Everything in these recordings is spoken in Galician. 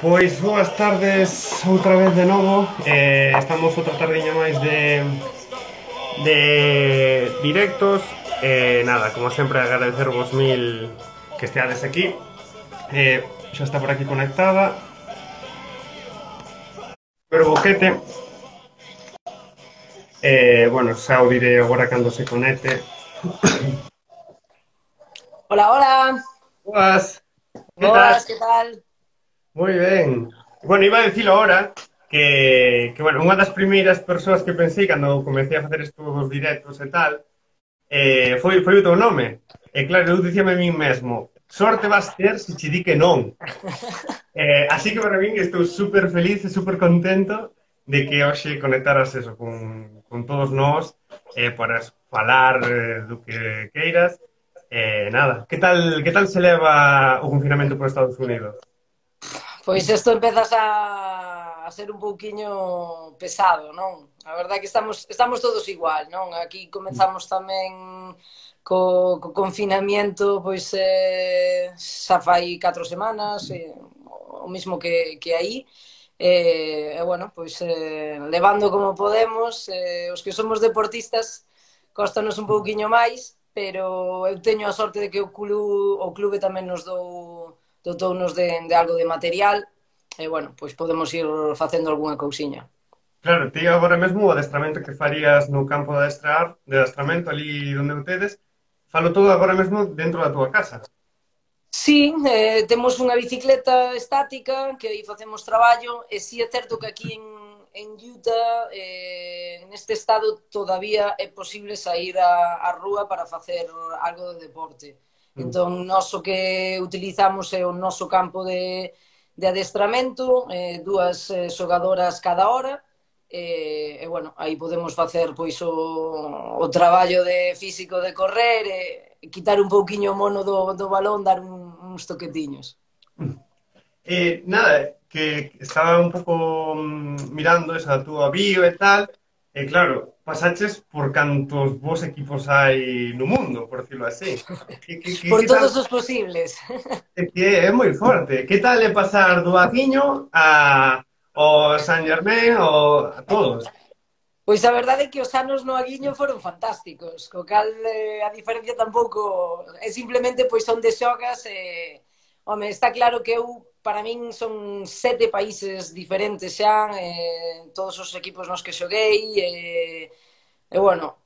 Pois boas tardes outra vez de novo. Estamos outra tardiña máis de directos. Nada, como sempre agradecervos mil que esteades aquí. Xa está por aquí conectada. Pero boquete. Bueno, xa o diré agora cando se conecte. Hola, hola. Boas, que tal? Boas, ¿qué tal? Moi ben. Bueno, iba a dicilo ahora que bueno, unha das primeiras persoas que pensei cando comecei a facer estes directos e tal, foi o teu nome. E claro, eu dicíame a min mesmo, sorte vas ter se che di que non. Así que para min estou super feliz e super contento de que hoxe conectaras eso con todos nós para falar do que queiras. Nada, que tal se leva o confinamento por Estados Unidos? Pois isto empezas a ser un pouquiño pesado, non? A verdade é que estamos todos igual, non? Aquí comezamos tamén co confinamiento, pois xa fai 4 semanas, o mismo que aí. Bueno, pois levando como podemos, os que somos deportistas costanos un pouquiño máis, pero eu teño a sorte de que o clube tamén nos dotounos de algo de material e, bueno, pois podemos ir facendo algunha cousiña. Claro, ti agora mesmo o adestramento que farías no campo de adestramento ali onde o tedes, falo todo agora mesmo dentro da túa casa. Sí, temos unha bicicleta estática que aí facemos traballo e sí é certo que aquí en Utah, neste estado, todavía é posible sair á rúa para facer algo de deporte. Mm. Entón, nós o que utilizamos é o noso campo de adestramento, dúas xogadoras cada hora, bueno, aí podemos facer pois o traballo de físico de correr e quitar un pouquiño o mono do balón, dar uns toquetiños. Nada, que estaba un pouco mirando esa túa bio e tal, e claro, pasaches por cantos bons equipos hai no mundo, por decirlo así. Por Que tal? todos os posibles. É que é moi forte. Que tal é pasar do Aquiño ao San Germain ou a todos? Pois a verdade é que os anos no Aguiño foron fantásticos, co cal a diferencia tampouco é simplemente pois onde xogas home, está claro que eu para min son 7 países diferentes xa, todos os equipos nos que xoguei bueno,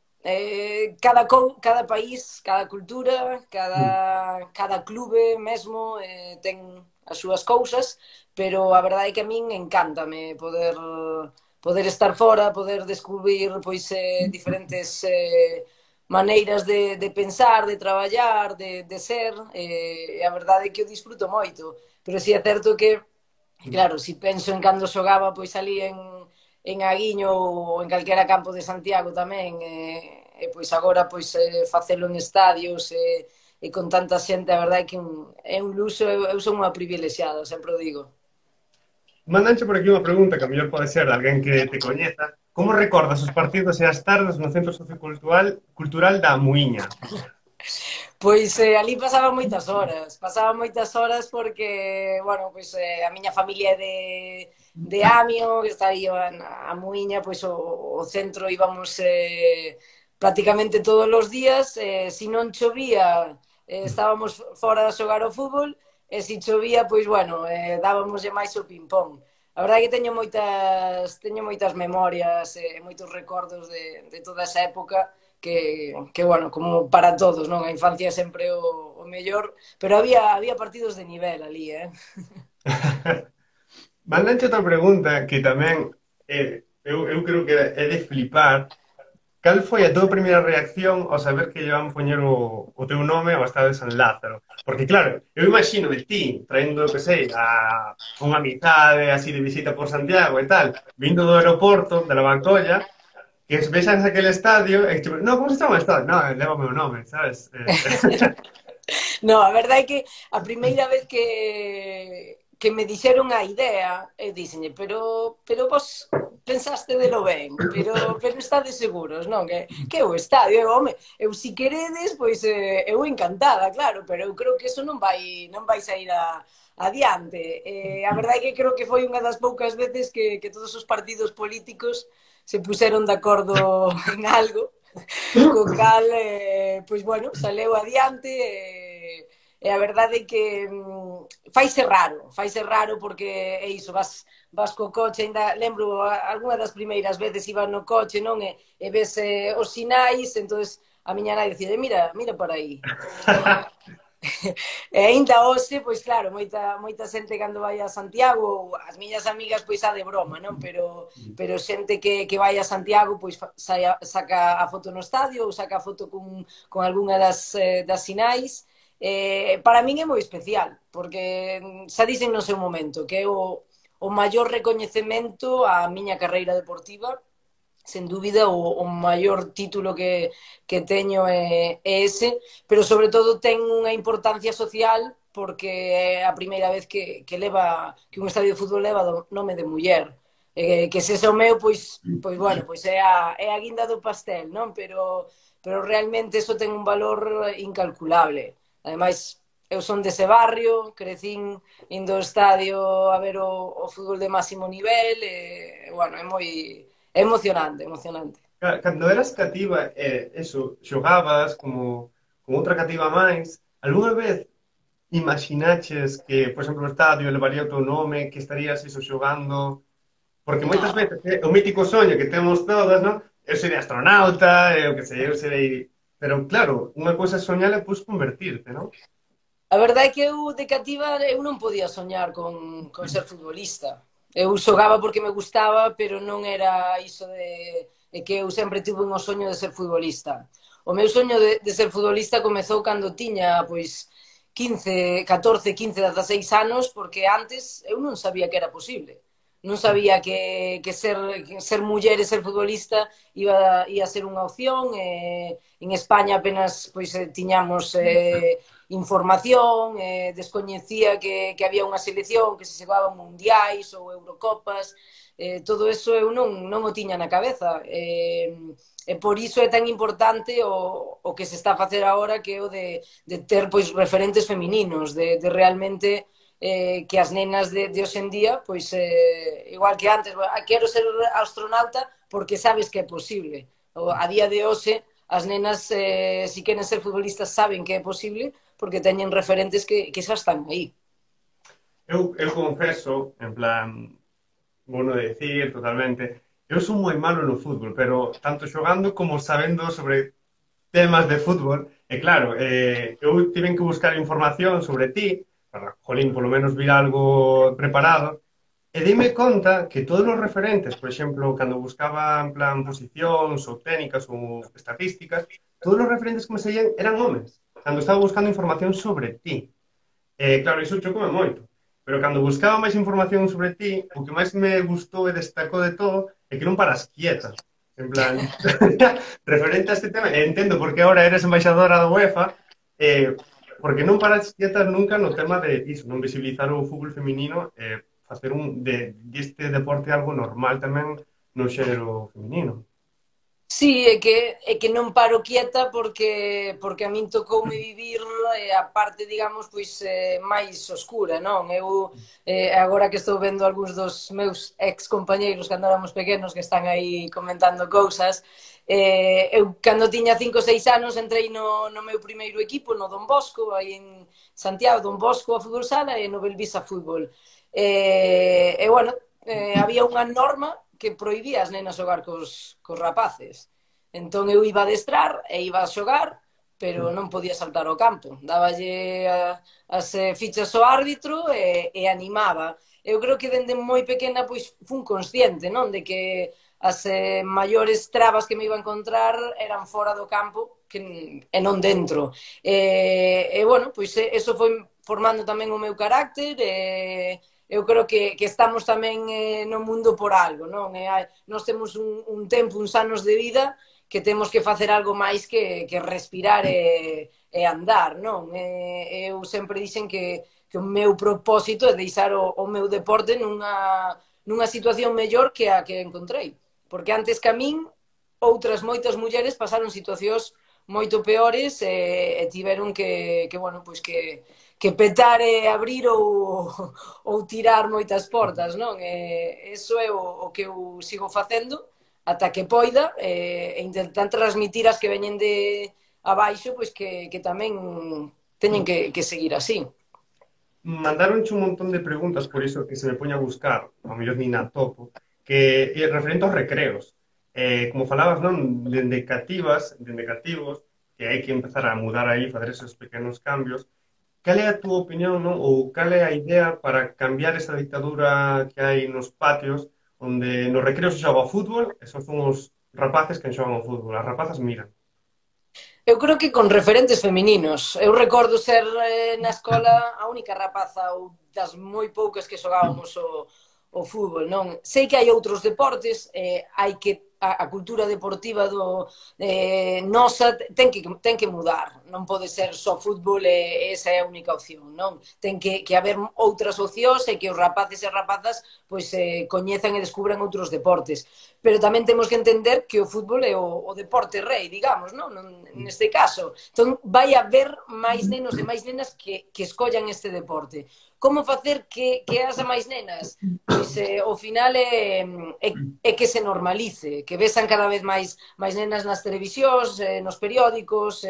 cada país, cada cultura, cada clube mesmo ten as súas cousas, pero a verdade é que a min encántame poder estar fora, poder descubrir pois diferentes maneiras de pensar, de traballar, de ser, a verdade é que eu disfruto moito, pero si é certo que, claro, si penso en cando xogaba pois ali en Aguiño ou en calquera campo de Santiago tamén, pois agora pois facelo en estadios e con tanta xente, a verdade é que é un luxo, eu son unha privilexiada, sempre o digo. Mandanche por aquí unha pregunta que a mellor pode ser de alguén que te coñeza. Como recordas os partidos e as tardes no Centro Sociocultural da Muiña? Pois ali pasaba moitas horas porque, bueno, pois a miña familia é de Amio, que está aí a Muiña, pois o centro íbamos prácticamente todos os días, se non chovía estábamos fora a xogar o fútbol, e se chovía, pois, bueno, dábamos máis o ping-pong. A verdade é que teño moitas memorias e moitos recordos de toda esa época que, bueno, como para todos, non? A infancia é sempre o mellor, pero había partidos de nivel ali, Mandanche outra pregunta que tamén eu creo que é de flipar. Cal foi a túa primeira reacción ao saber que lle van poñer o teu nome ao Estadio de San Lázaro? Porque claro, eu imagino de ti traendo, que sei, a unha amizade así de visita por Santiago e tal, vindo do aeroporto, de la Bancolla, que vexas aquele estadio e tipo, no, como se chama o estadio? No, leva o meu nome, sabes? No, a verdade é que a primeira vez que me dixeron a idea, e dixenlle, pero vos pensaste de lo ben, pero estades seguros, non? Que o estadio, home, eu si queredes, pois eu encantada, claro, pero eu creo que eso non vai sair adiante. A verdade é que creo que foi unha das poucas veces que todos os partidos políticos se puseron de acordo en algo, co cal, pois bueno, saleu adiante, e a verdade é que faise raro porque é iso, vas co coche, ainda lembro algunha das primeiras veces iba no coche, non? E ves os sinais, entonces a miña nai dicía, mira por aí. E ainda hoxe, pois claro, moita xente cando vai a Santiago, as miñas amigas pois a de broma, non? Pero xente que vai a Santiago pois saca a foto no estadio ou saca a foto con algunha das sinais. Para min é moi especial, porque xa dixen no seu momento que é o maior recoñecemento á miña carreira deportiva, sen dúbida o maior título que teño é ese, pero sobre todo ten unha importancia social porque é a primeira vez que un estadio de fútbol leva o nome de muller. Que se ese o meu, pois bueno, pois é a guinda do pastel, non? Pero realmente eso ten un valor incalculable. Ademais, eu son dese barrio, crecín indo ao estadio a ver o fútbol de máximo nivel, e, bueno, é emocionante. Cando eras cativa, eso, xogabas como outra cativa máis, algunha vez imaginaches que, por exemplo, o estadio levaría o teu nome, que estarías iso xogando? Porque moitas No. veces o mítico soño que temos todas, non? Eu serei astronauta, eu que sei, eu serei... Pero claro, unha cousa é soñar e pois convertirte, non? A verdade é que eu de cativa eu non podía soñar con ser futbolista. Eu xogaba porque me gustaba, pero non era iso de que eu sempre tuve un soño de ser futbolista. O meu soño de ser futbolista comezou cando tiña, pois, 15, 16 anos, porque antes eu non sabía que era posible. Non sabía que ser muller e ser futbolista ia ser unha opción. En España apenas pois tiñamos información, descoñecía que había unha selección, que se xogaban mundiais ou Eurocopas, todo eso eu non o tiña na cabeza. E por iso é tan importante o que se está a facer agora, que é o de ter pois referentes femininos, de realmente que as nenas de hoxe en día, pois igual que antes, quero ser astronauta porque sabes que é posible. A día de hoxe, as nenas, se queren ser futbolistas, saben que é posible porque teñen referentes que xa están aí. Eu confeso, en plan, vou non decir totalmente, eu son moi malo no fútbol, pero tanto xogando como sabendo sobre temas de fútbol, e claro, eu tiven que buscar información sobre ti, para, jolín, polo menos vir algo preparado, e dime conta que todos os referentes, por exemplo, cando buscaba en plan posicións ou técnicas ou estatísticas, todos os referentes que me seguían eran homes, cando estaba buscando información sobre ti. Claro, iso chocoume moito. Pero cando buscaba máis información sobre ti, o que máis me gustou e destacou de todo é que non paras quieta. En plan, referente a este tema, entendo porque agora eres embaixadora da UEFA, porque non paras quieta nunca no tema de iso, non visibilizar o fútbol feminino, facer deste deporte algo normal tamén no xénero feminino. Sí, é que non paro quieta porque a min tocoume vivir a parte, digamos, pois máis oscura, non? Eu agora que estou vendo algúns dos meus ex compañeiros cando éramos pequenos que están aí comentando cousas, eu cando tiña 5 ou 6 anos entrei no meu primeiro equipo, no Don Bosco, aí en Santiago, Don Bosco a fútbol sala e no Belvisa fútbol. Bueno, había unha norma que prohibía as nenas xogar cos rapaces. Entón eu iba a adestrar e iba a xogar, pero non podía saltar ao campo. Dáballe as fichas ao árbitro e animaba. Eu creo que dende moi pequena pois fun consciente, non, de que as maiores trabas que me iba a encontrar eran fora do campo e non dentro. Bueno, pois eso foi formando tamén o meu carácter eu creo que estamos tamén no mundo por algo, non? Nós temos un tempo, uns anos de vida que temos que facer algo máis que respirar e andar, non? Eu sempre dixen que o meu propósito é deixar o meu deporte nunha situación mellor que a que encontrei. Porque antes que a min, outras moitas mulleres pasaron situacións moito peores e tiveron bueno, pois que petar e abrir ou tirar moitas portas, non? Eso é o que eu sigo facendo ata que poida e intentar transmitir as que veñen de abaixo, pois que tamén teñen que seguir así. Mandaronche un montón de preguntas, por iso que se me poña a buscar, ao mellor nin a topo, que é referente aos recreos. Como falabas, non, dende cativas, dende cativos, que hai que empezar a mudar aí, fazer esos pequenos cambios. Cal é a túa opinión, non? Ou cal é a idea para cambiar esa dictadura que hai nos patios, onde nos recreos se xoga ao fútbol, e son os rapaces que xogan ao fútbol, as rapazas miran. Eu creo que con referentes femininos. Eu recordo ser na escola a única rapaza ou das moi poucas que xogábamos o fútbol, non? Sei que hai outros deportes, hai que a cultura deportiva nosa ten que mudar. Non pode ser só fútbol e esa é a única opción, non? Ten que haber outras opcións e que os rapaces e rapazas pois coñezan e descubran outros deportes. Pero tamén temos que entender que o fútbol é o deporte rei, digamos, non? Neste caso. Entón, vai haber máis nenos e máis nenas que escollan este deporte. Como facer que as máis nenas? Pois, ao final, é que se normalice, que vexan cada vez máis nenas nas televisións, nos periódicos,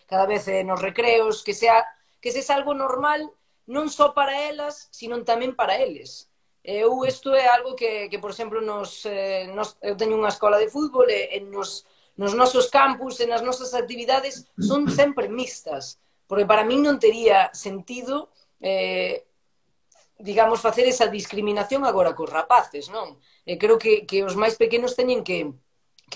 cada vez nos recreos, que sexa algo normal, non só para elas, sino tamén para eles. Isto é algo que por exemplo, eu teño unha escola de fútbol e nos nosos campus e nas nosas actividades son sempre mixtas, porque para min non tería sentido digamos, facer esa discriminación agora cos rapaces, non? Creo que os máis pequenos teñen que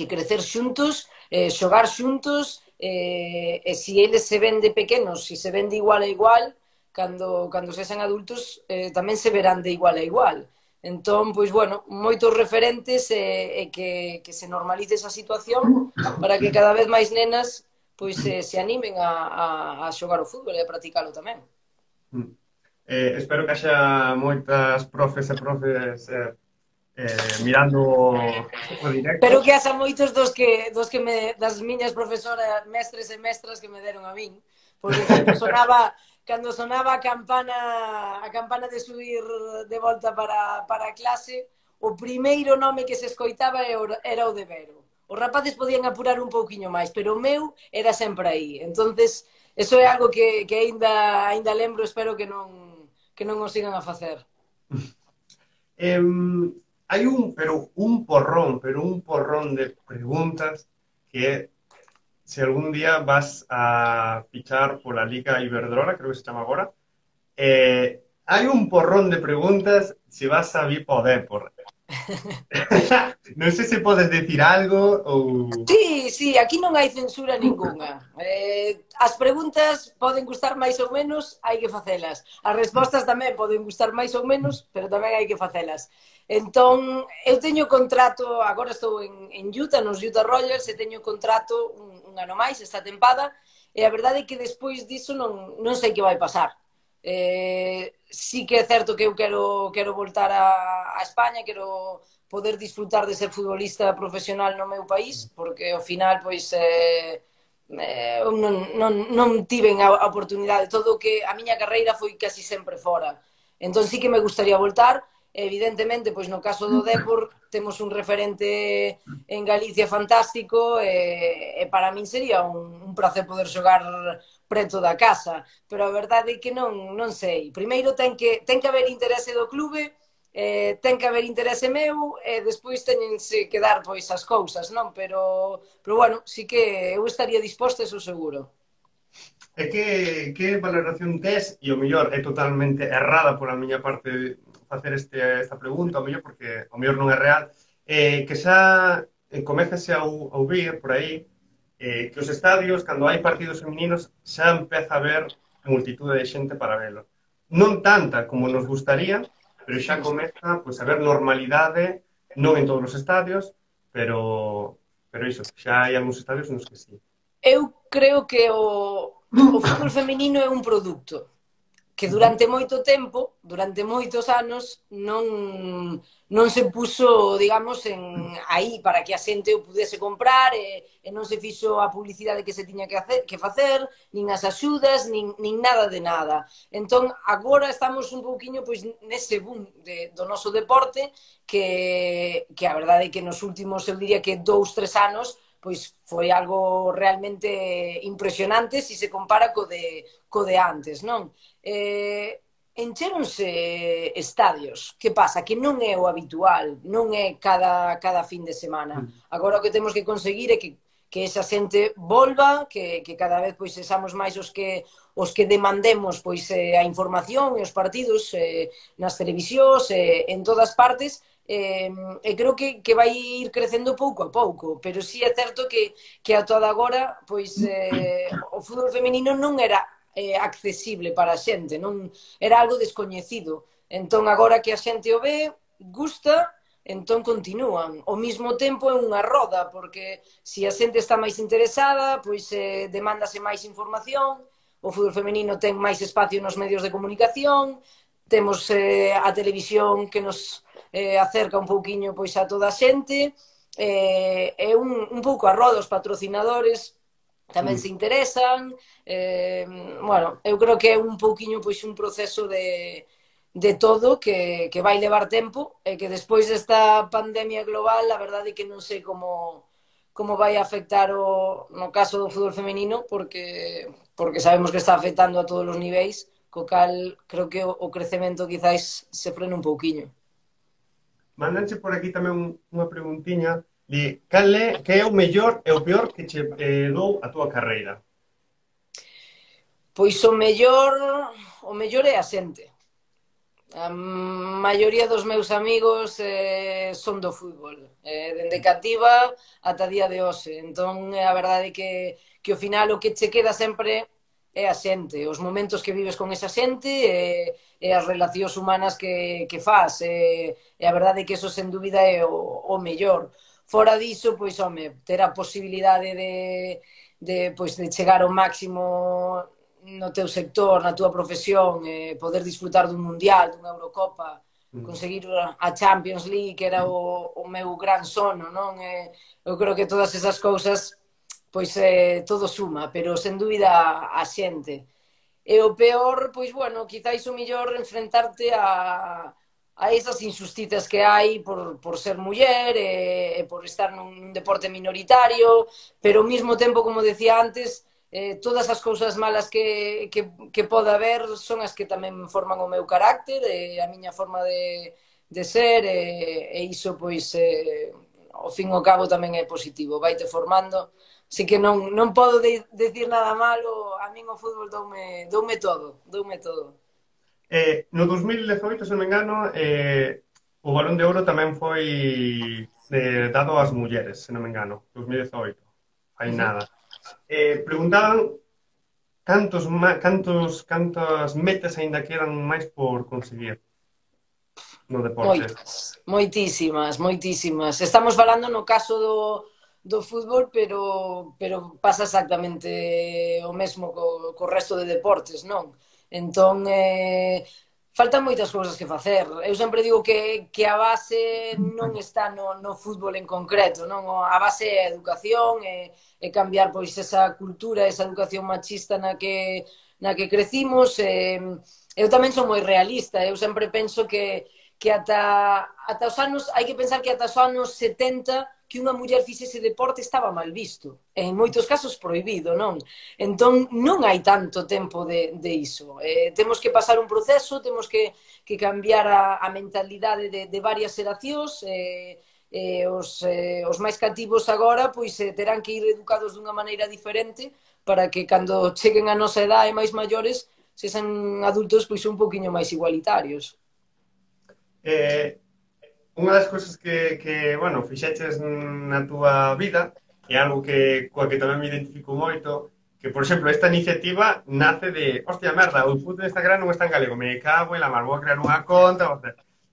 crecer xuntos, xogar xuntos, e se eles se ven de pequenos, se ven de igual a igual, cando sexan adultos tamén se verán de igual a igual. Entón, pois, bueno, moitos referentes e que se normalice esa situación para que cada vez máis nenas pois se animen a xogar o fútbol e a practicalo tamén. Espero que haxa moitas profes e profes mirando o directo. Pero que haxa moitos das miñas profesoras, mestres e mestras que me deron a min, porque cando sonaba a campana de subir de volta para a clase, o primeiro nome que se escoitaba era o de Vero. Os rapaces podían apurar un pouquiño máis, pero o meu era sempre aí. Entonces, eso é algo que aínda lembro, espero que non o sigan a facer. Hai un porrón de preguntas que se algún día vas a fichar pola Liga Iberdrola, creo que se chama agora, hai un porrón de preguntas se vas a vir po Dépor. Non sei se podes decir algo ou... Sí, aquí non hai censura ninguna. As preguntas poden gustar máis ou menos, hai que facelas. As respostas tamén poden gustar máis ou menos, pero tamén hai que facelas. Entón, eu teño contrato, agora estou en Utah, nos Utah Royals, e teño contrato un ano máis esta tempada, e a verdade é que despois diso non sei que vai pasar. Sí que é certo que eu quero voltar a España, quero poder disfrutar de ser futbolista profesional no meu país, porque ao final pois non tiven a oportunidade, todo que a miña carreira foi casi sempre fora. Entón sí que me gustaría voltar. Evidentemente, pois no caso do Dépor temos un referente en Galicia fantástico e para min sería un placer poder xogar preto da casa, pero a verdade é que non sei. Primeiro ten que haber interese do clube, ten que haber interese meu e despois teñense que dar pois as cousas, non? Pero bueno, sí que eu estaría disposta, eso seguro. E que valoración tes, e o mellor é totalmente errada pola miña parte facer esta pregunta, ao mellor porque ao mellor non é real, que xa comecese a ouvir por aí que os estadios, cando hai partidos femininos, xa empeza a haber multitude de xente para velo. Non tanta como nos gustaría, pero xa comeza pois, a haber normalidade, non en todos os estadios, pero pero iso, xa hai algúns estadios nos que sí. Eu creo que o fútbol feminino é un produto que durante moito tempo, durante moitos anos, non se puso, digamos, aí para que a xente o pudese comprar e non se fixo a publicidade que se tiña que facer, nin as axudas, nin nada de nada. Entón, agora estamos un pouquiño pois, nese boom do noso deporte que a verdade é que nos últimos, eu diría que 2, 3 anos, pois foi algo realmente impresionante se se compara co de antes, non? Enchéronse estadios. Que pasa? Que non é o habitual, non é cada fin de semana. Agora o que temos que conseguir é que esa xente volva, que cada vez pois sexamos máis os que demandemos pois a información e os partidos nas televisións en todas partes. E creo que vai ir crecendo pouco a pouco, pero sí é certo que a toda agora pois o fútbol feminino non era accesible para a xente, non era algo descoñecido. Entón agora que a xente o ve, gusta, entón continúan. Ao mesmo tempo é unha roda, porque se a xente está máis interesada, pois demándase máis información, o fútbol feminino ten máis espacio nos medios de comunicación, temos a televisión que nos acerca un pouquiño pois a toda a xente, é un pouco a roda, os patrocinadores tamén se interesan, bueno, eu creo que é un pouquiño pois un proceso de todo que vai levar tempo e que despois desta pandemia global, a verdade é que non sei como vai afectar no caso do fútbol feminino, porque sabemos que está afectando a todos os niveis, co cal creo que o crecemento quizáis se frena un pouquiño. Mandanche por aquí tamén unha preguntiña de que é o mellor e o peor que che dou a túa carreira? Pois o mellor é a xente. A maioría dos meus amigos son do fútbol, dende cativa ata día de hoxe. Entón, a verdade é que ao final o que che queda sempre é a xente, os momentos que vives con esa xente e as relacións humanas que fas. E a verdade é que eso, sen dúbida, é o mellor. Fora diso, pois, home, ter a posibilidade de chegar ao máximo no teu sector, na túa profesión, poder disfrutar dun mundial, dunha Eurocopa, conseguir a Champions League, que era o meu gran sono, non? Eu creo que todas esas cousas, pois todo suma, pero sen dúbida a xente. E o peor, pois, bueno, quizáis o mellor enfrentarte a esas injusticias que hai por ser muller e por estar nun deporte minoritario, pero ao mesmo tempo, como decía antes, todas as cousas malas que poda haber son as que tamén forman o meu carácter e a miña forma de ser e iso, pois, ao fin e ao cabo tamén é positivo, vaite formando. Así que non podo decir nada malo, a min o fútbol doume todo. No 2018, se non me engano, o Balón de Ouro tamén foi dado ás mulleres, se non me engano, 2018, hai nada. Preguntaban cantas metas aínda quedan máis por conseguir no deporte. Moitísimas. Estamos falando no caso do fútbol, pero pasa exactamente o mesmo co resto de deportes, non? Entón, faltan moitas cousas que facer. Eu sempre digo que a base non está no fútbol en concreto, non? A base é a educación, é cambiar pois esa cultura, esa educación machista na que crecimos. Eu tamén son moi realista, eu sempre penso que ata os anos, hai que pensar que ata os anos 70 que unha muller fixese deporte estaba mal visto, en moitos casos prohibido, non? Entón, non hai tanto tempo de iso. Temos que pasar un proceso, temos que cambiar a mentalidade de varias xeracións, os máis cativos agora pois terán que ir educados dunha maneira diferente para que cando cheguen a nosa edade máis maiores sexan adultos pois un poquinho máis igualitarios. Unha das cousas que bueno, fixeches na túa vida é algo coa que tamén me identifico moito, que, por exemplo, esta iniciativa nace de, hostia, merda, o fútbol de Instagram non está en galego, me cago en la mar, vou a crear unha conta,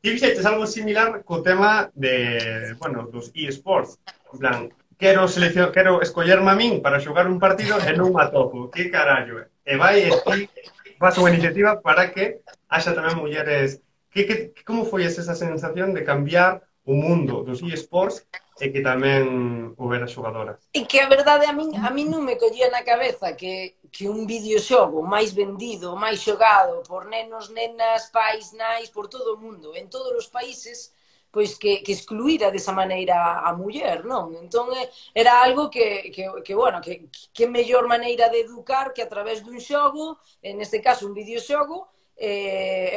ti fixeches algo similar co tema de, bueno, dos eSports, en plan, quero escollerme a min para xogar un partido e non me atopo. Que carallo é? E vai e ti vas unha iniciativa para que haxa tamén mulleres. Como foi esa sensación de cambiar o mundo dos eSports e que tamén houbera xogadoras? E que a verdade a min non me collía na cabeza que un videoxogo máis vendido, máis xogado por nenos, nenas, pais, nais, por todo o mundo, en todos os países, pois que excluíra desa maneira a muller, non? Entón, era algo bueno, que mellor maneira de educar que a través dun xogo, en este caso un videoxogo,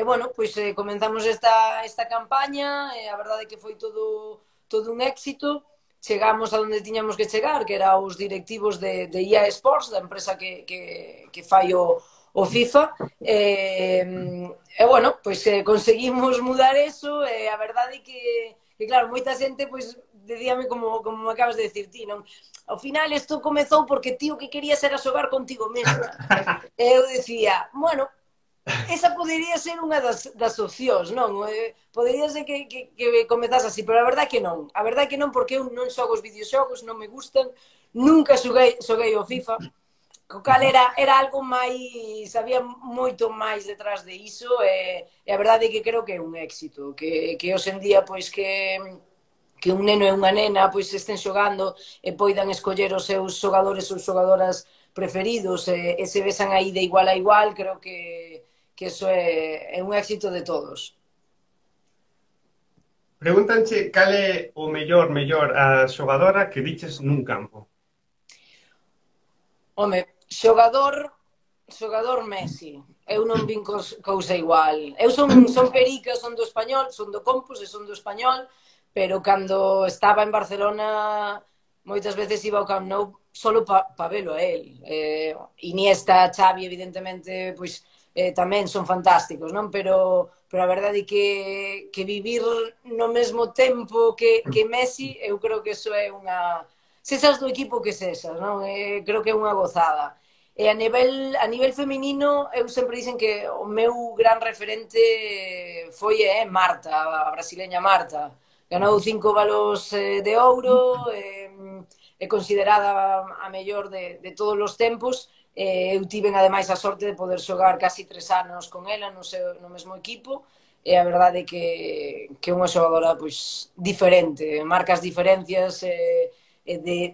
bueno, pois comenzamos esta campaña, a verdade que foi todo un éxito, chegamos a onde tiñamos que chegar, que era os directivos de EA Sports, da empresa que fai o FIFA, bueno, pois conseguimos mudar eso, e a verdade que claro, moita xente, pois, decíame como me acabas de decir ti, non? Ao final, isto comezou porque ti o que querías era xogar contigo mesma. E eu decía, bueno, esa podería ser unha das opcións, non? Podería ser que comezase así, pero a verdade que non. A verdade que non, porque eu non xogo os videoxogos, non me gustan, nunca xoguei o FIFA, co cal era algo máis, había moito máis detrás de iso, e a verdade é que creo que é un éxito, que hoxe en día, pois, que un neno e unha nena pois estén xogando e poidan escoller os seus xogadores ou xogadoras preferidos e se besan aí de igual a igual, creo que eso é un éxito de todos. Pregúntanche cal é o mellor a xogadora que viches nun campo. Home, xogador Messi. Eu non vin cousa igual. Eu son perica, son do Español, son do Compos e son do Español, pero cando estaba en Barcelona moitas veces iba ao Camp Nou solo pa velo a él. Iniesta, Xavi, evidentemente, pois tamén son fantásticos, non? Pero a verdade é que vivir no mesmo tempo que Messi, eu creo que eso é unha... Sesas do equipo que sesas, non? Creo que é unha gozada. E a nivel feminino, eu sempre dicen que o meu gran referente foi Marta, a brasileña Marta. Ganou 5 balos de ouro, é considerada a mellor de todos os tempos. Eu tiven ademais a sorte de poder xogar casi 3 anos con ela no mesmo equipo, e a verdade é que é unha xogadora pois diferente, marca as diferencias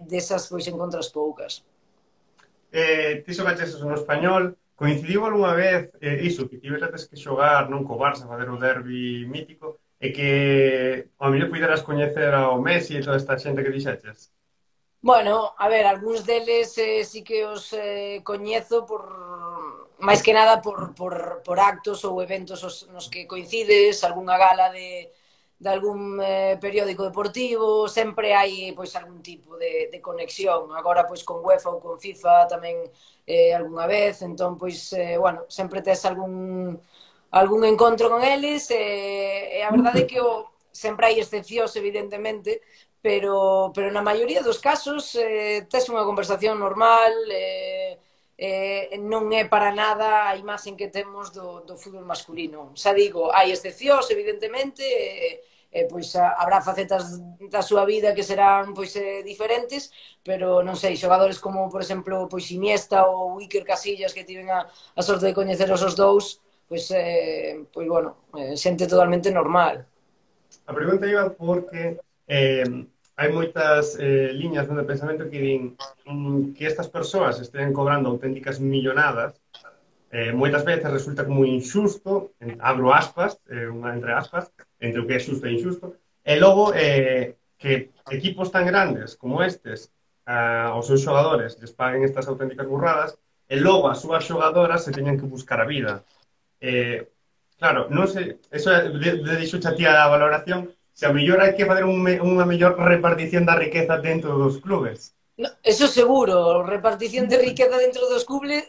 desas pois encontras poucas. Ti xogaches no Español, coincidiu algunha vez iso, que tiveras que xogar non co Barça, fazer o derbi mítico, e que ao mellor puideras coñecer ao Messi e toda esta xente que dixeches? Bueno, a ver, algúns deles sí que os coñezo máis que nada por actos ou eventos nos que coincides, algunha gala de algún periódico deportivo, sempre hai pois algún tipo de conexión. Agora pois con UEFA ou con FIFA tamén algunha vez, entón pois bueno, sempre tes algún encontro con eles, e a verdade é que sempre hai excepcións, evidentemente, pero na maioría dos casos tes unha conversación normal, non é para nada a imaxen que temos do fútbol masculino. Xa digo, hai excepcións, evidentemente, pois habrá facetas da súa vida que serán pois diferentes, pero non sei, xogadores como, por exemplo, pois Iniesta ou Iker Casillas, que tiven a sorte de coñeceros os dous, pois bueno, xente totalmente normal. A pregunta iba porque hai moitas liñas de pensamento que din que estas persoas estén cobrando auténticas millonadas, moitas veces resulta como injusto, abro aspas, entre aspas, entre o que é xusto e injusto, e logo que equipos tan grandes como estes aos seus xogadores les paguen estas auténticas burradas e logo as súas xogadoras se teñan que buscar a vida. Claro, non sei, eso deixo xa ti a valoración, se a mellor hai que fazer unha mellor repartición da riqueza dentro dos clubes. No, eso seguro, repartición de riqueza dentro dos clubes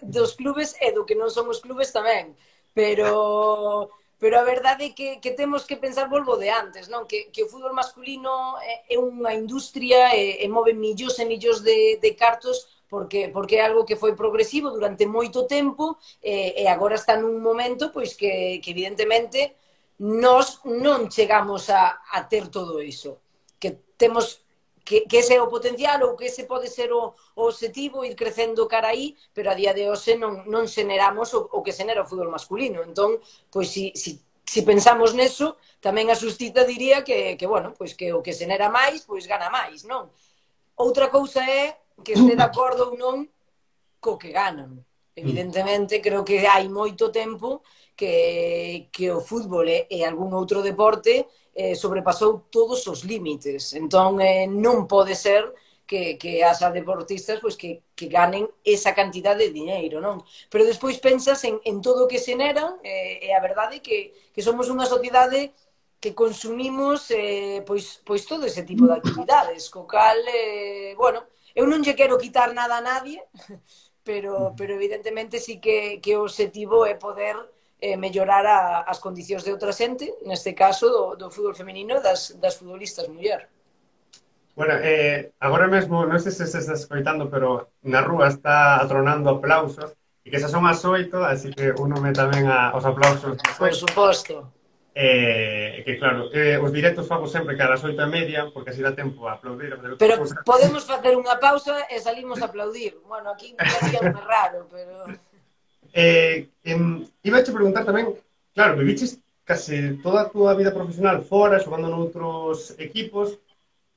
e do que non son os clubes tamén, pero a verdade é que temos que pensar, volvo de antes, non? Que o fútbol masculino é unha industria e move millóns e millóns de cartos porque é algo que foi progresivo durante moito tempo e agora está nun momento pois que evidentemente nós non chegamos a ter todo iso, que temos que ese é o potencial ou que ese pode ser o objetivo, ir crecendo cara aí, pero a día de hoxe non xeneramos o que xenera o fútbol masculino. Entón, pois, si pensamos neso, tamén a Xustiza diría bueno, pois que o que xenera máis, pois gana máis, non? Outra cousa é que este de acordo ou non co que ganan. Evidentemente, creo que hai moito tempo que o fútbol e algún outro deporte sobrepasou todos os límites. Entón, non pode ser que haxa deportistas pois, que ganen esa cantidad de dinheiro, non? Pero despois pensas en todo o que xeneran e a verdade é que somos unha sociedade que consumimos pois todo ese tipo de actividades, co cal, bueno, eu non lle quero quitar nada a nadie, pero evidentemente sí que o objetivo é poder mellorar as condicións de outra xente, neste caso do fútbol femenino das futbolistas muller. Bueno, agora mesmo, non sei se se está escoitando, pero na rúa está atronando aplausos, e que xa son as 8, así que únome tamén aos aplausos das Por 8. suposto. Que claro, os directos fago sempre cada as 8:30, porque así dá tempo a aplaudir. Pero podemos facer unha pausa e salimos a aplaudir. Bueno, aquí miraríamos raro, pero... Iba a te preguntar tamén, claro, viviches case toda a túa vida profesional fora, xogando noutros equipos.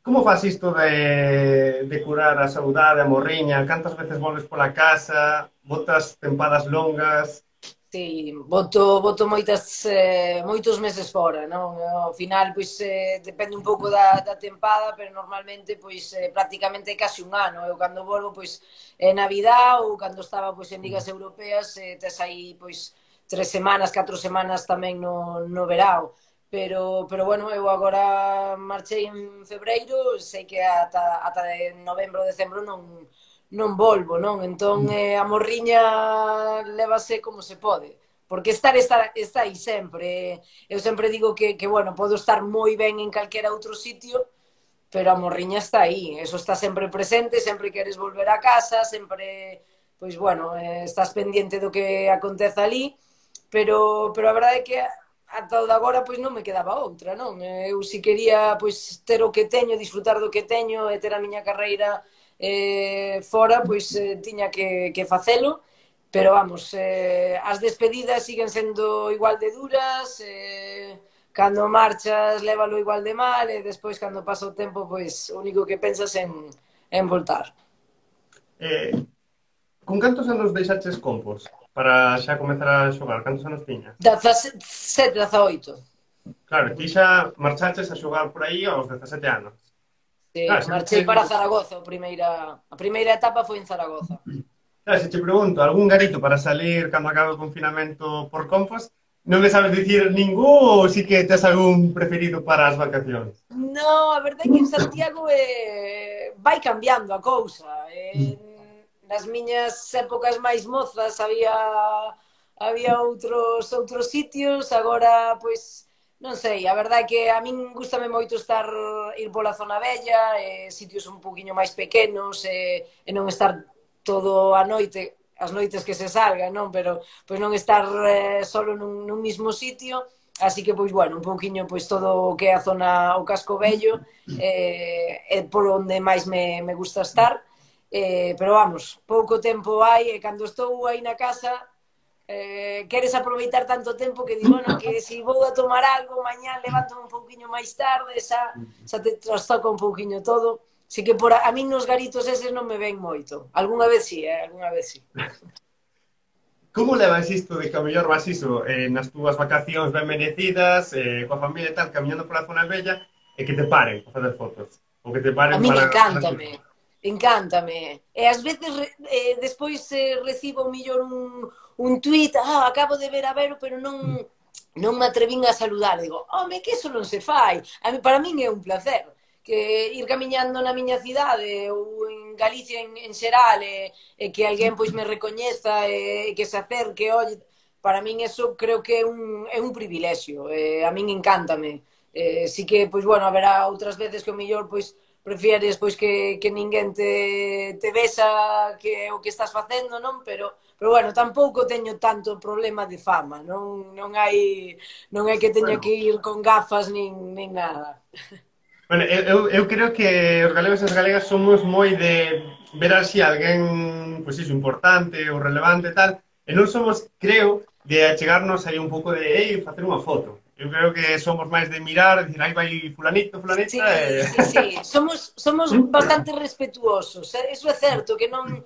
Como faz isto de curar a saudade, a morriña? Cantas veces volves pola casa? Botas tempadas longas? Sí, voto moitos meses fora, non? Ao final, pois, depende un pouco da tempada, pero normalmente, pois, prácticamente casi un ano. Eu cando volvo, pois, é Navidad ou cando estaba, pois, en ligas europeas, tes aí, pois, 3 semanas, 4 semanas tamén no verao. Pero bueno, eu agora marchei en febreiro, sei que ata de novembro, decembro non volvo, non? Entón, a morriña lévase como se pode. Porque está aí sempre. Eu sempre digo que, bueno, podo estar moi ben en calquera outro sitio, pero a morriña está aí. Eso está sempre presente, sempre queres volver a casa, sempre, pois, bueno, estás pendiente do que acontece ali, pero a verdade é que ata o de agora, pois, non me quedaba outra, non? Eu si quería, pois, ter o que teño, disfrutar do que teño e ter a miña carreira fora, pois tiña que facelo, pero vamos, as despedidas siguen sendo igual de duras, cando marchas lévalo igual de mal e despois cando pasa o tempo, pois o único que pensas en voltar. Con cantos anos deixaches Compos para xa comezar a xogar? Cantos anos tiñas? 17, 18. Claro, ti xa marchaches a xogar por aí aos 17 anos. Sí, marchei para Zaragoza, a primeira etapa foi en Zaragoza. Claro, se te pregunto, algún garito para salir cando acabe o confinamento por Compos, non me sabes dicir ningún ou si que tes algún preferido para as vacacións? No, a verdade é que en Santiago vai cambiando a cousa. Nas miñas épocas máis mozas había outros sitios, agora, pois, non sei, a verdade é que a min gustame moito ir pola zona vella, sitios un poquinho máis pequenos, e non estar todo a noite, as noites que se salga, non? Pero pois non estar solo nun mismo sitio, así que, pois, bueno, un poquinho, pois, todo o que é a zona, o casco vello, é por onde máis me gusta estar, pero vamos, pouco tempo hai, e cando estou aí na casa, queres aproveitar tanto tempo que digo, bueno, que se vou a tomar algo, mañá levanto un pouquiño máis tarde, xa te trastoca un pouquiño todo. Así que a min nos garitos eses non me ven moito. Algúnha vez sí, algúnha vez sí. Como levas isto de que ao mellor vas iso nas túas vacacións ben merecidas, coa familia e tal, camiñando pola zona bella, e que te paren para facer fotos? Ou que te paren a min para... encántame. E ás veces despois recibo millor un tuit, acabo de ver a Vero, pero non me atrevín a saludar. Digo, home, que eso non se fai. Para min é un placer que ir camiñando na miña cidade ou en Galicia en xeral e que alguén pois me recoñeza e que se acerque, oye, para min eso creo que é un privilexio. A min encántame. Si que, pois, bueno, haberá outras veces que o mellor, pois, prefieres pois que ninguén te vexa que o que estás facendo, non? Pero bueno, tampouco teño tanto problema de fama, non hai que teña que ir con gafas nin nada. Bueno, eu creo que os galegos e as galegas somos moi de ver así alguén, pois iso, importante ou relevante e tal, e non somos, creo, de achegarnos aí un pouco de, facer unha foto. Eu creo que somos máis de mirar, dicir, aí vai fulanito, fulanita, Sí, sí, sí. Somos bastante respetuosos. Eso é certo, que non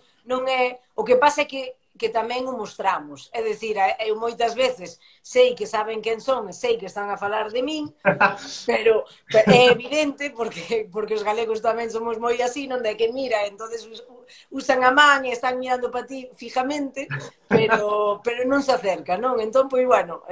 é... O que pasa é que tamén o mostramos. É dicir, eu moitas veces sei que saben quen son, e sei que están a falar de min, pero é evidente porque os galegos tamén somos moi así, non de que mira, entonces usan a man e están mirando para ti fijamente, pero non se acerca, non? Entón, pois, bueno,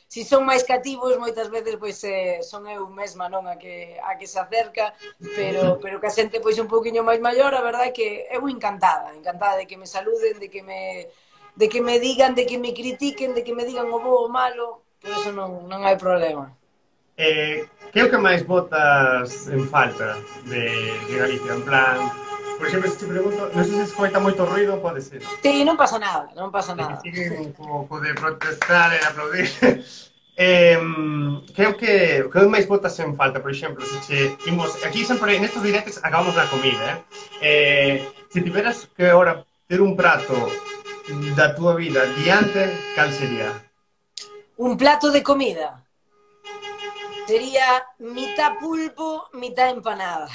si son máis cativos, moitas veces, pois, son eu mesma, non? A que se acerca, pero que a xente, pois, un pouquiño máis maior, a verdade é que eu encantada de que me saluden, de que me digan, de que me critiquen, de que me digan o bo ou o malo, por eso non hai problema. Que é o que máis botas en falta de Galicia? En plan, por exemplo, se te pregunto, non sei se escoita moito ruido, pode ser. Sí, non pasa nada, non pasa De que nada. siguen co de protestar e aplaudir. Que é o que máis botas en falta? Por exemplo, se che imos, aquí sempre nestes directos acabamos na comida, se tiveras que ahora ter un prato da túa vida diante, cal sería? Un plato de comida sería mitad pulpo, mitad empanada.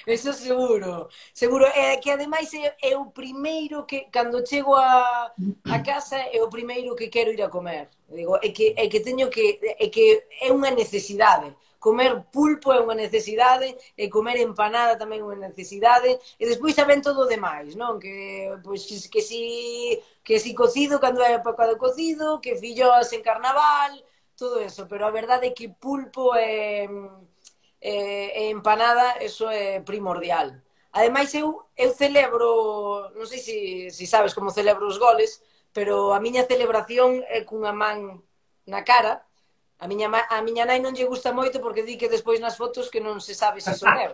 Eso seguro, seguro. É que ademais é o primeiro que, cando chego a casa, é o primeiro que quero ir a comer. Digo, é que teño que, é que é unha necesidade. Comer pulpo é unha necesidade, e comer empanada tamén é unha necesidade, e despois saben todo o demais, non? Pois, que si cocido cando é época do cocido, que filloas en carnaval, todo eso, pero a verdade é que pulpo e empanada, eso é primordial. Ademais, eu celebro, non sei se sabes como celebro os goles, pero a miña celebración é cunha man na cara. A miña nai non lle gusta moito porque di que despois nas fotos que non se sabe se son eu.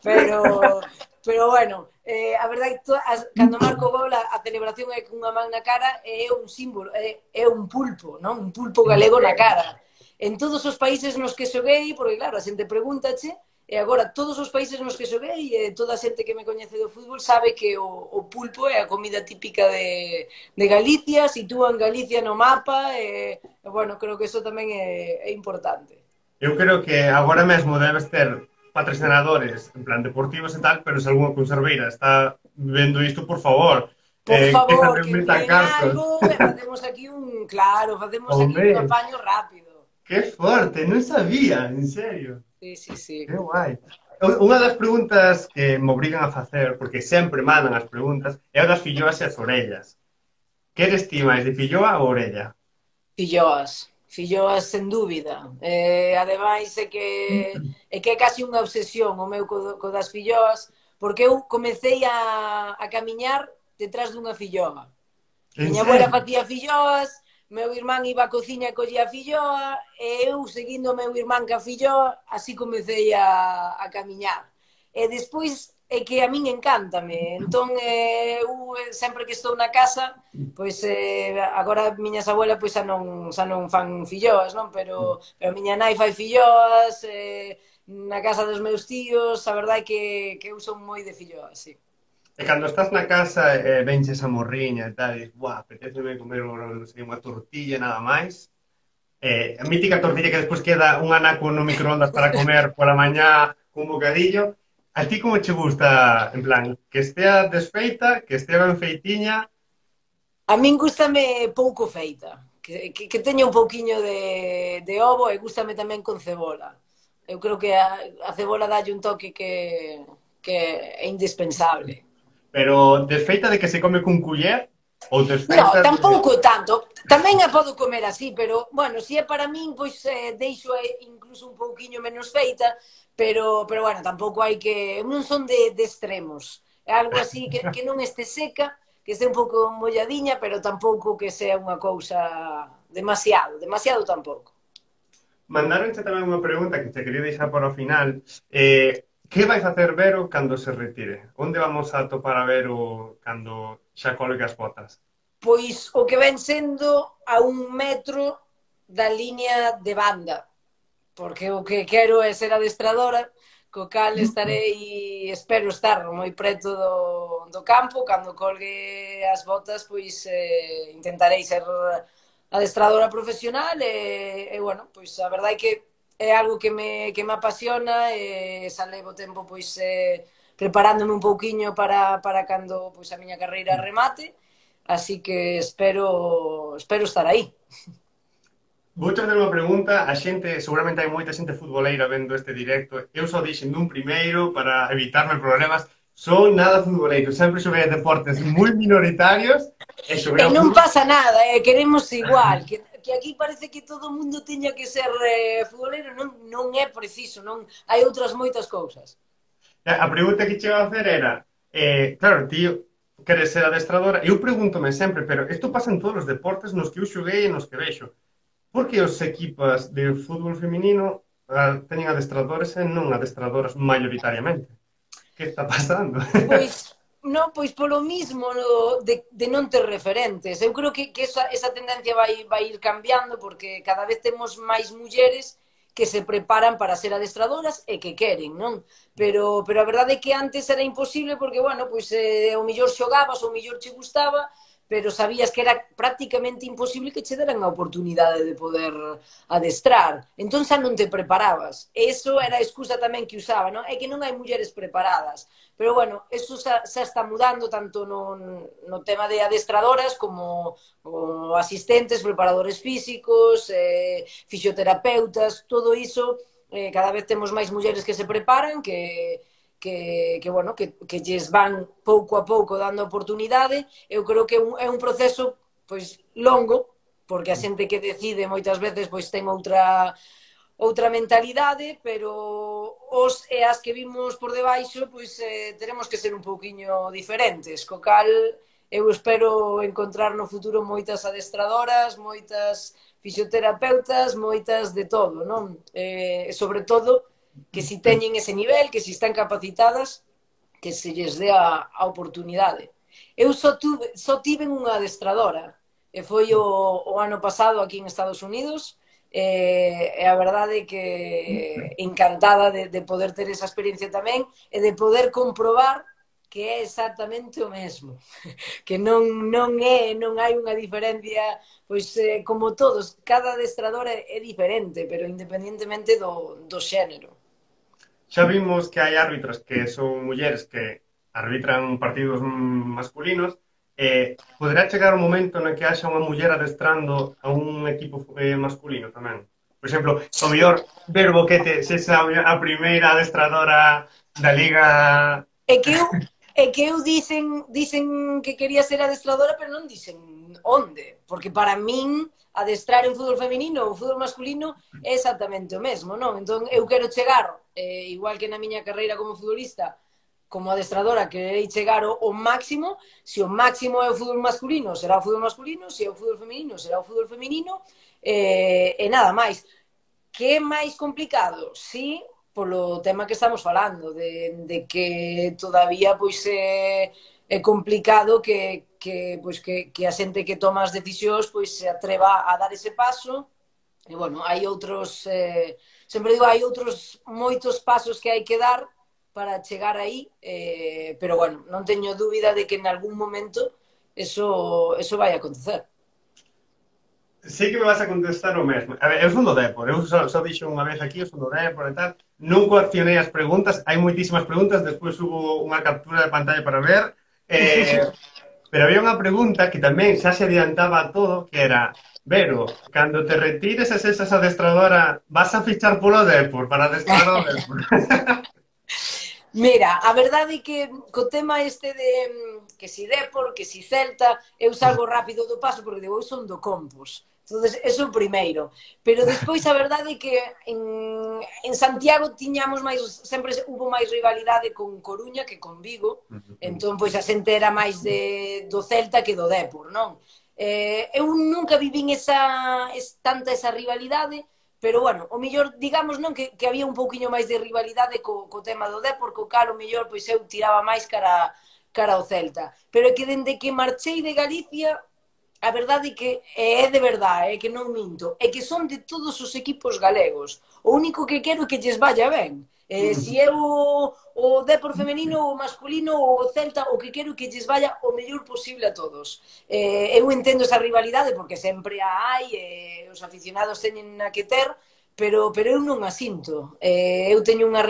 Pero bueno, a verdade é que cando marco o gol a celebración é cunha man na cara, e é un símbolo, é un pulpo, non? Un pulpo galego na cara. En todos os países nos que xoguei, porque claro, a xente pregúntache, e agora todos os países nos que xoguei, e toda a xente que me coñece do fútbol sabe que o pulpo é a comida típica de Galicia, sitúan Galicia no mapa, e bueno, creo que eso tamén é importante. Eu creo que agora mesmo debes ter patrocinadores, en plan deportivos e tal, pero se algunha conserveira está vendo isto, por favor, Por que favor, tamén que metan envíen cartos. algo, e facemos aquí facemos aquí un Home, apaño rápido. que forte, non sabía, en serio. Sí, sí, sí. Que guai. Unha das preguntas que me obrigan a facer, porque sempre mandan as preguntas, é o das filloas e as orellas. Que eres ti máis, de filloa ou orella? Filloas sen dúbida. Ademais é que é casi unha obsesión o meu co das filloas, porque eu comecei a camiñar detrás dunha filloa. En Miña abuela serio? facía filloas, meu irmán iba á cociña e collía a filloa, e eu, seguindo o meu irmán ca filloa, así comecei a camiñar. E despois é que a min encántame. Entón, eu sempre que estou na casa, pois agora miñas abuelas pois xa non fan filloas, non? Pero a miña nai fai filloas, na casa dos meus tíos, a verdade é que eu son moi de filloas, sí. E cando estás na casa e venches a morriña e tal, e dices, buah, apeteceme comer non sei, unha tortilla nada máis. A mítica tortilla que despois queda un anaco no microondas para comer pola mañá cun bocadillo. A ti como che gusta, en plan, que estea desfeita, que estea ben feitiña? A min gústame pouco feita, que teña un pouquiño de ovo, e gústame tamén con cebola. Eu creo que a cebola dalle un toque que é indispensable. Pero desfeita de que se come cun culler ou No, desfeita de... tampouco tanto. Tamén a podo comer así, pero, bueno, se é para min, pois deixo incluso un pouquiño menos feita, pero bueno, tampouco hai que... Non son de extremos. É algo así que non este seca, que este un pouco molladiña, pero tampouco que sea unha cousa demasiado tampouco. Mandaronche tamén unha pregunta que te quería deixar para o final. Que vai facer Vero cando se retire? Onde vamos a topar a Vero cando xa colgue as botas? Pois o que ven sendo a 1 metro da liña de banda. porque o que quero é ser adestradora, co cal estarei, espero estar moi preto do campo, cando colgue as botas, pois intentarei ser adestradora profesional bueno, pois a verdade é que é algo que me apasiona e xa levo tempo pois preparándome un pouquiño para cando pois a miña carreira remate, así que espero estar aí. Vou fazer unha pregunta, a xente, seguramente hai moita xente futboleira vendo este directo, eu só dixen dun primeiro para evitarme problemas, son nada futboleiro, sempre xoguei a deportes moi minoritarios e xoguei E ao non fútbol. pasa nada, queremos igual, que aquí parece que todo o mundo teña que ser futbolero, non é preciso, non hai outras moitas cousas. A pregunta que che iba a hacer era, claro, ti queres ser adestradora, eu pregúntome sempre, pero isto pasa en todos os deportes nos que eu xoguei e nos que vexo. Por que os equipas de fútbol feminino teñen adestradores e non adestradoras mayoritariamente? Que está pasando? Pois, non, pois polo mismo de non ter referentes. Eu creo que esa tendencia vai ir cambiando porque cada vez temos máis mulleres que se preparan para ser adestradoras e que queren, non? Pero a verdade é que antes era imposible porque, bueno, pois o millor xogabas, o millor che gustaba, pero sabías que era prácticamente imposible que che deran a oportunidade de poder adestrar. Entón xa non te preparabas. Eso era a excusa tamén que usaba, non? É que non hai mulleres preparadas. Pero, bueno, eso xa está mudando tanto no tema de adestradoras como asistentes, preparadores físicos, fisioterapeutas, todo iso, cada vez temos máis mulleres que se preparan, bueno, que lles van pouco a pouco dando oportunidade. Eu creo que é un proceso pois longo, porque a xente que decide moitas veces pois ten outra mentalidade, pero os e as que vimos por debaixo, pois teremos que ser un pouquiño diferentes, co cal eu espero encontrar no futuro moitas adestradoras, moitas fisioterapeutas, moitas de todo, non? Sobre todo, que si teñen ese nivel, que si están capacitadas, que se lles dé a oportunidade. Eu só tive unha adestradora, e foi o ano pasado aquí en Estados Unidos, e a verdade é que encantada de poder ter esa experiencia tamén e de poder comprobar que é exactamente o mesmo, que non hai unha diferencia, pois como todos, cada adestrador é diferente, pero independentemente do xénero. Xa vimos que hai árbitras que son mulleres que arbitran partidos masculinos. Poderá chegar un momento no que haxa unha muller adestrando a un equipo masculino tamén? Por exemplo, o mellor ver Boquete se esa a primeira adestradora da Liga. É que eu dicen que quería ser adestradora, pero non dicen onde, porque para min adestrar en fútbol feminino ou fútbol masculino é exactamente o mesmo, non? Entón eu quero chegar, igual que na miña carreira como futbolista, como adestradora querei chegar ao máximo, se o máximo é o fútbol masculino, será o fútbol masculino, se é o fútbol feminino, será o fútbol feminino, e nada máis. Que é máis complicado? Sí, polo tema que estamos falando, de que todavía pois é complicado que a xente que toma as decisións pois se atreva a dar ese paso. E, bueno, hai outros, sempre digo, hai outros moitos pasos que hai que dar para chegar aí, pero, bueno, non teño dúbida de que en algún momento eso vai acontecer. Sei que me vas a contestar o mesmo. A ver, eu son do Depor, eu só dixo unha vez aquí, eu son do Depor e tal. Non coaccionei as preguntas, hai moitísimas preguntas, despois hubo unha captura de pantalla para ver. Pero había unha pregunta que tamén xa se adiantaba a todo, que era: Vero, cando te retires e sexas adestradora, vas a fichar polo Depor para adestrar o Depor? Mira, a verdade é que co tema este de que si Depor, que si Celta, eu salgo rápido do paso porque digo, eu son do Compos. Entonces, eso primeiro. Pero despois a verdade é que en Santiago tiñamos máis, sempre hubo máis rivalidade con Coruña que con Vigo. Entón, pois a xente era máis do Celta que do Depor, non? Eu nunca vivín tanta esa rivalidade, pero, bueno, o mellor, digamos, non, que había un pouquiño máis de rivalidade co tema do Depor, co cal o mellor, pois eu tiraba máis cara ao Celta. Pero é que dende que marchei de Galicia, a verdade é que é de verdade, é que non minto, é que son de todos os equipos galegos. O único que quero é que lles vaya ben. Si é o Depor femenino, o masculino ou o Celta, o que quero é que lles vaya o mellor posible a todos. Eu entendo esa rivalidade porque sempre a hai, os aficionados teñen a que ter, pero eu non a sinto. Eu teño unha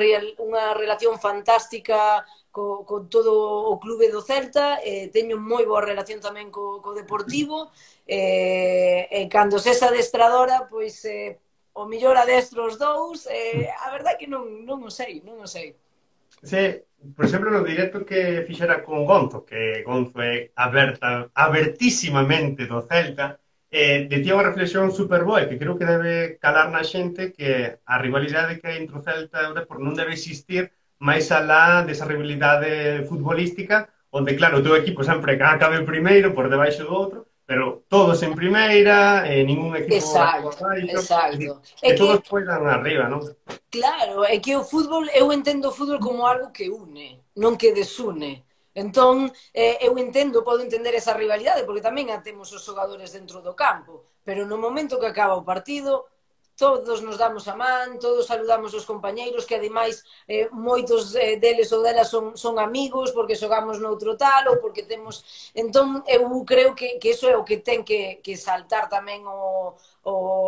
relación fantástica co todo o clube do Celta, teño moi boa relación tamén co Deportivo, cando sesa adestradora, pois o millor adestro os dous, a verdade é que non o sei, non o sei. Sí, por exemplo, no directo que fixera con Gonzo, que Gonzo é abertísimamente do Celta, decía unha reflexión super boa, que creo que debe calar na xente, que a rivalidade que hai entre o Celta e o Depor non debe existir máis alá desa rivalidade futbolística, onde, claro, o teu equipo sempre acabe primeiro por debaixo do outro, pero todos en primeira, ningún equipo Exacto, abaixo, é dicir, exacto. É que que todos poidan arriba, non? claro, é que o fútbol, eu entendo o fútbol como algo que une, non que desune. Entón, eu entendo, podo entender esa rivalidade, porque tamén a temos os xogadores dentro do campo, pero no momento que acaba o partido, todos nos damos a man, todos saludamos os compañeiros, que ademais moitos deles ou delas son amigos, porque xogamos noutro tal, ou porque temos... Entón, eu creo que iso é o que ten que saltar tamén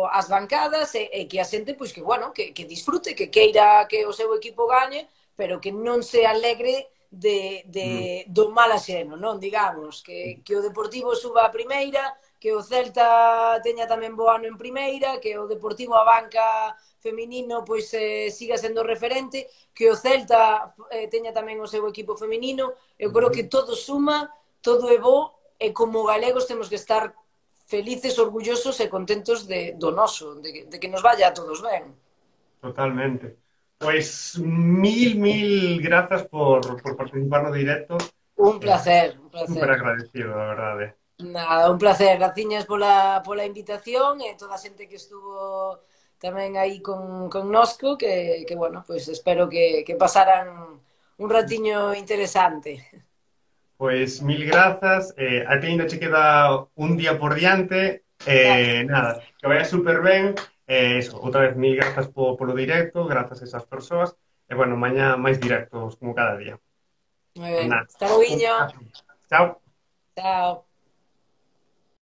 as bancadas, e que a xente, pois que, bueno, que disfrute, que queira que o seu equipo gañe, pero que non se alegre Mm. do mal axeno, non? Digamos, que o Deportivo suba a primeira, que o Celta teña tamén bo ano en primeira, que o Deportivo a banca feminino pois siga sendo referente, que o Celta teña tamén o seu equipo feminino. Eu creo que todo suma, todo é bo, e como galegos temos que estar felices, orgullosos e contentos do noso, de que nos vaya a todos ben. Totalmente. Pues mil grazas por participar no directo. Un placer, un Súper placer. agradecido, la verdad. Nada, un placer. Graciñas pola invitación e toda a xente que estuvo tamén aí connosco, bueno, pues espero que pasaran un ratiño interesante. Pues mil grazas. A ti ainda che queda un día por diante. Nada, que vaya súper ben. Eso, outra vez mil grazas polo directo, grazas a esas persoas. E bueno, mañá máis directos como cada día. Moi Pues ben. nada, Hasta un logo. abrazo. Chao. Chao.